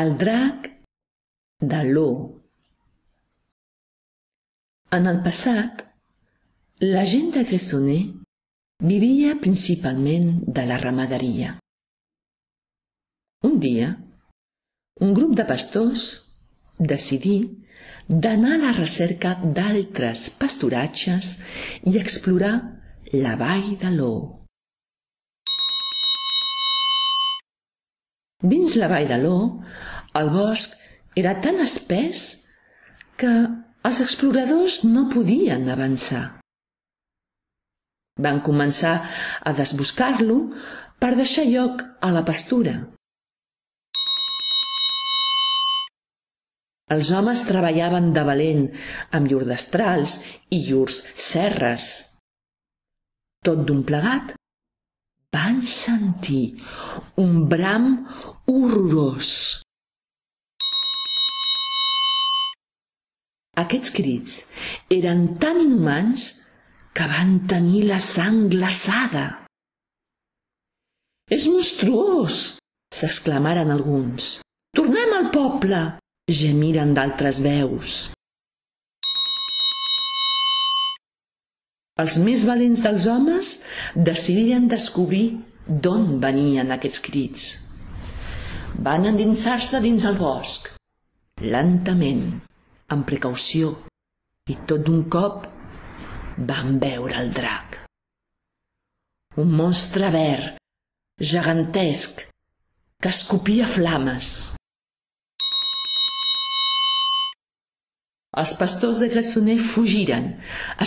El drac de l'O. En el passat, la gent de Gressoney vivia principalment de la ramaderia. Un dia, un grup de pastors decidí d'anar a la recerca d'altres pasturatges i explorar la vall de l'O. Dins la vall de l'O, el bosc era tan espès que els exploradors no podien avançar. Van començar a desboscar-lo per deixar lloc a la pastura. Els homes treballaven de valent amb llurs destrals i llurs serres. Tot d'un plegat, van sentir un bram horrorós. Aquests crits eren tan inhumans que van tenir la sang glaçada. «És monstruós!», s'exclamaren alguns. «Tornem al poble!», gemiren d'altres veus. Els més valents dels homes decidiren descobrir d'on venien aquests crits. Van endinsar-se dins el bosc, lentament, amb precaució, i tot d'un cop van veure el drac. Un monstre verd, gegantesc, que escopia flames. Els pastors de Gressoney fugiren,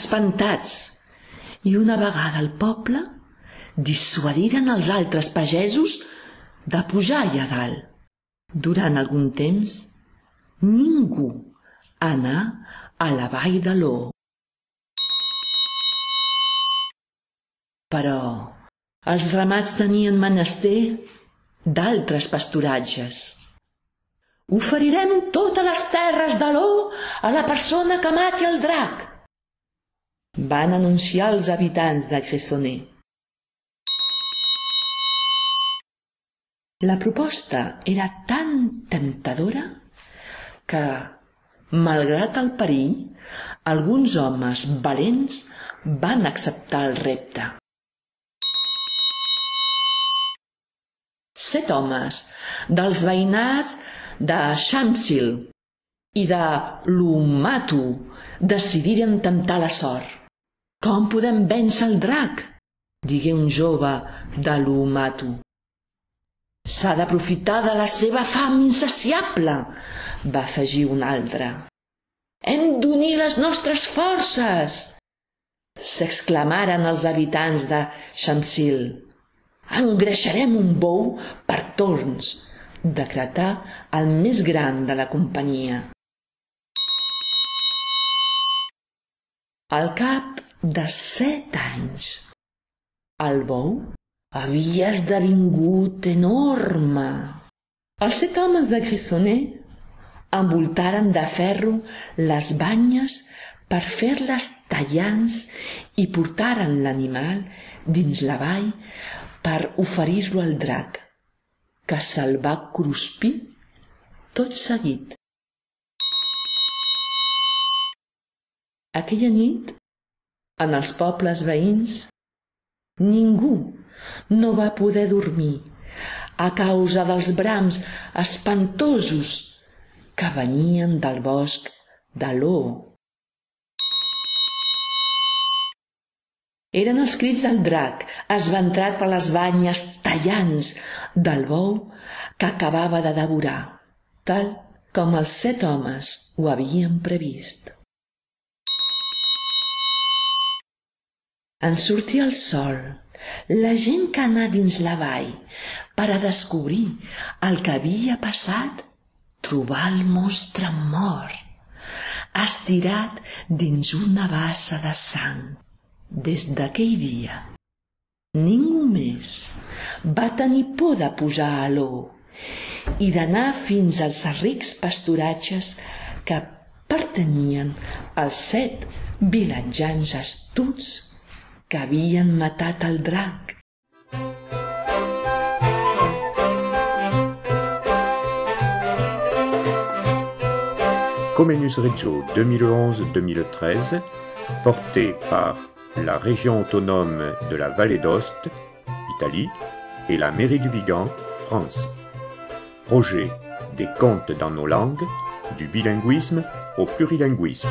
espantats, i una vegada al poble dissuadiren els altres pagesos de pujar allà dalt. Durant algun temps, ningú anà a la vall de l'O. Però els ramats tenien menester d'altres pasturatges. «Oferirem totes les terres de l'O a la persona que mati el drac», van anunciar els habitants de Gressoney. La proposta era tan temptadora que, malgrat el perill, alguns homes valents van acceptar el repte. 7 homes dels veïnats de Shamsil i de l'Umatu decidiren temptar la sort. «Com podem vèncer el drac?», digué un jove de l'Umatu. «S'ha d'aprofitar de la seva fam insaciable», va afegir un altre. «Hem d'unir les nostres forces», s'exclamaren els habitants de Shamsil. «Engreixarem un bou per torns», decretà el més gran de la companyia. Al cap de 7 anys, el bou havia esdevingut enorme. Els 7 homes de Gressoney envoltaren de ferro les banyes per fer-les tallants i portaren l'animal dins la vall per oferir-lo al drac, que se'l va cruspir tot seguit. Aquella nit, en els pobles veïns, ningú no va poder dormir a causa dels brams espantosos que venien del bosc de l'O. Eren els crits del drac esventrat per les banyes tallants del bou que acabava de devorar, tal com els 7 homes ho havien previst. En sortir el sol, la gent que anà dins la vall per a descobrir el que havia passat trobà el monstre mort, estirat dins una bassa de sang. Des d'aquell dia, ningú més va tenir por de pujar a l'O i d'anar fins als rics pasturatges que pertanyien als 7 vilatjans astuts que havien matat el drac. Comenius Regio 2011-2013, porté par la région autonome de la Vallée d'Aoste, Italie, et la mairie du Vigan, France. Projet des contes dans nos langues, du bilinguisme au plurilinguisme.